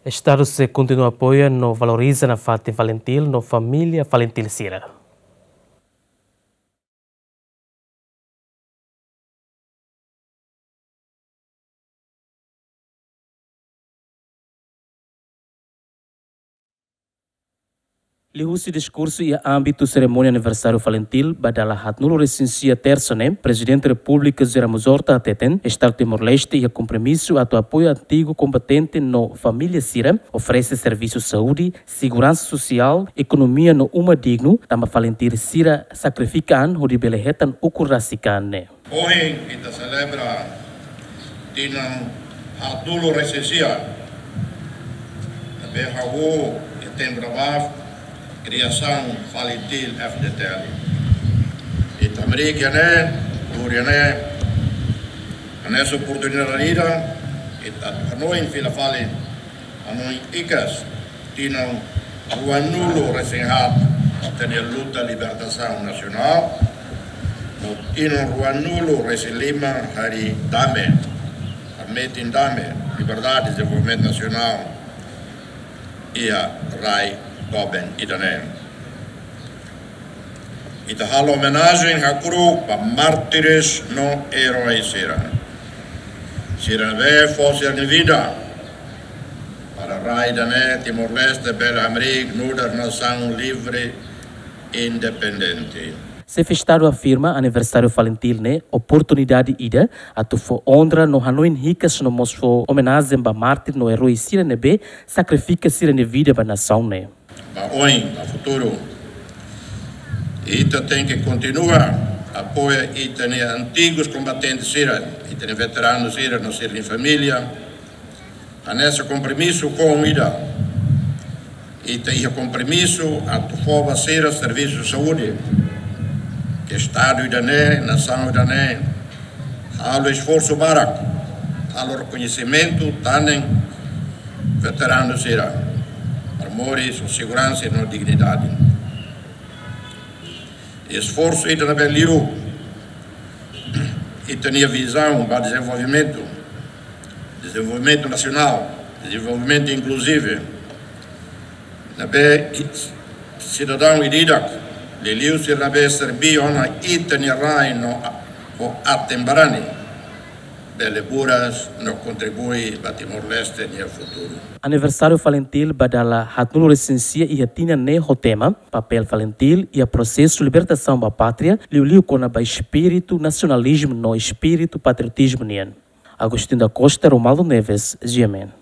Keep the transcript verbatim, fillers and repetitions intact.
Estadu sei kontinua apoia no valoriza nafatin FALINTIL no família FALINTIL sira. Liuhusi diskursu iha ámbitu serimónia aniversáriu FALINTIL ba dala haatnulu resin sia, tersa ne'e, Prezidente Repúblika José Ramos Horta hateten, Estadu Timor-Leste iha kompromisu atu apoia antigu kombatente no família sira, oferese servisu saúde, seguransa sosiál, ekonomia no uma dignu, tanba FALINTIL sira sakrifika an hodi bele hetan ukun rasik an ne'e. Ohin ita selebra tinan haatnulu resin sia, ne'ebé hahú iha tempu ne'ebá kriasaun FALINTIL F-FDTL. Ita hamriik iha ne'e, tuur iha ne'e, hanesan oportunidade ida, ita hanoin fila fali, hanoin hikas tinan ruanulu resin haat ita-nia luta libertasaun nasionál, no tinan ruanulu resin lima harii dame, hametin dame, liberdade, dezenvolvimentu nasionál iha rai doben ida-ne'e. Ita halo omenajen hakru'uk ba mártires no erói sira. Sira ne'ebé fó sira-nia vida para rai ida-ne'e Timor-Leste bele hamriik nu'udar nasaun livre, independente. Xefe Estadu afirma aniversáriu FALINTIL ne'e oportunidade ida atu fó onra no hanoin hikas no mós fó omenajen ba mártir no erói sira ne'ebé sakrifika sira-nia vida ba nasaun ne'e. Ba oin, ba futuru, ita tenke kontinua apoia ita-nia antigus kombatente sira, ita-nia veteranu sira no sira-nia família, hanesan kompromisu foun ida. Ita iha kompromisu atu fó ba sira servisu saúde, ke Estadu ida-ne'e, nasaun ida-ne'e, halo esforsu barak, halo rekoñesimentu tan ne'e veteranu sira, para moris ho seguransa no dignidade. Esforsu ida ne'ebé liu ita-nia vizaun ba dezenvolvimentu, dezenvolvimentu nasionál, dezenvolvimentu inkluzivu, ne'ebé sidadaun ida-idak, liuliu sira ne'ebé serbí ona ita-nia rai no ho aten-barani, bele buras no kontribui ba Timor-Leste nia futuru. Aniversáriu FALINTIL ba dala haatnulu resin sia iha tinan ne'e ho tema Papél FALINTIL iha prosesu libertasaun ba pátria, liuliu kona-ba espíritu nasionalizmu no espíritu patriotizmu nian. Agostinho da Costa, Romualdo Neves, G M N.